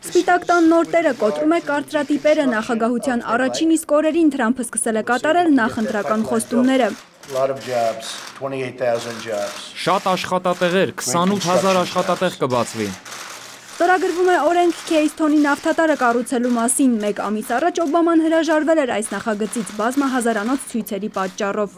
Սպիտակ տան նոր տերը կոտրում է կարծրատիպերը նախագահության առաջին իսկ օրերին Թրամփը սկսել է կատարել նախընտրական խոստումները։ Շատ աշխատատեղեր, 28,000 աշխատատեղ կբացվի։ Ստորագրվում է օրենք Քեյսթոնի նավթատարը կառուցելու մասին։ Մեկ ամիս առաջ Օբաման հրաժարվել էր այս նախագծից բազմահազարանոց ցույցերի պատճառով։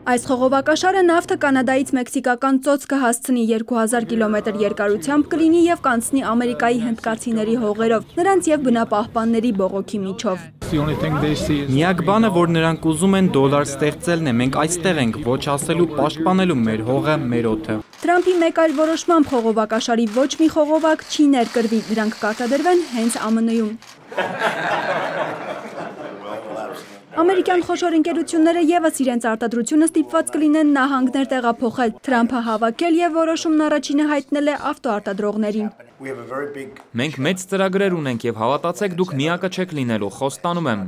Այս խողովակաշարը նավթը Կանադայից մեքսիկական ծոց կհասցնի 2000 կիլոմետր երկարությամբ կլինի եւ կանցնի Ամերիկայի հնդկացիների հողերով, նրանց եւ բնապահպանների բողոքի միջով։ Միակ բանը, որ նրանք ուզում են դոլար ստեղծելն է, մենք այստեղ ենք, ոչ ասելու պաշտպանելու մեր հողը, մեր օդը։ Թրամփի մեկ այլ որոշմամբ խողովակաշարի ոչ մի խողովակ չի ներկրվի, դրանք կարտադրվեն հենց ԱՄՆ-ում։ Ամերիկյան խոշոր ընկերությունները եւս իրենց արտադրությունը ստիպված կլինեն նահանգներ տեղափոխել, Թրամփը հավաքել եւ որոշումն առաջինը հայտնել է ավտոարտադրողներին։ Մենք մեծ ծրագրեր ունենք եւ հավատացեք, դուք միակը չեք լինելու, խոստանում եմ։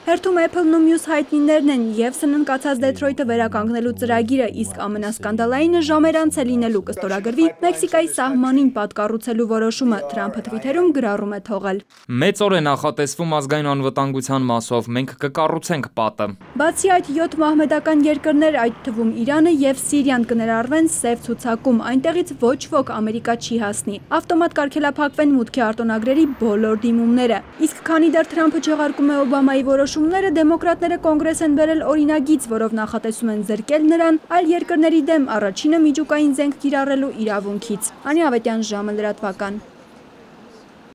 Հերթում Apple-ն ու մյուս հայտնիներն են եւ սննկացած Դեթրոյթը վերականգնելու ծրագիրը, իսկ ամենասկանդալայինը ժամեր անց է լինելու կստորագրվի Մեքսիկայի սահմանին պատկառուցելու որոշումը, Թրամփը Twitter-ում գրառում է թողել։ Մեծ օր է նախատեսվում ազգային անվտանգության մասով, մենք կկառուցենք պատը։ Բացի այդ 7 մահմեդական երկրներ, այդ թվում Իրանը եւ Սիրիան կներառվեն սև ցուցակում, այնտեղից ոչ ոք Ամերիկա չի հասնի։ Ավտոմատ կարգելափակվեն մուտքի արտոնագրերի բոլոր դիմումները։ Իսկ քանի դեռ Թրամփը չեղարկում է Օբամայի որոշումները, դեմոկրատները կոնգրես են բերել օրինագիծ, որով նախատեսում են զրկել նրան այլ երկրների դեմ առաջինը միջուկային զենք կիրառելու իրավունքից։ Անի Ավետյան, ժամը լրատվական։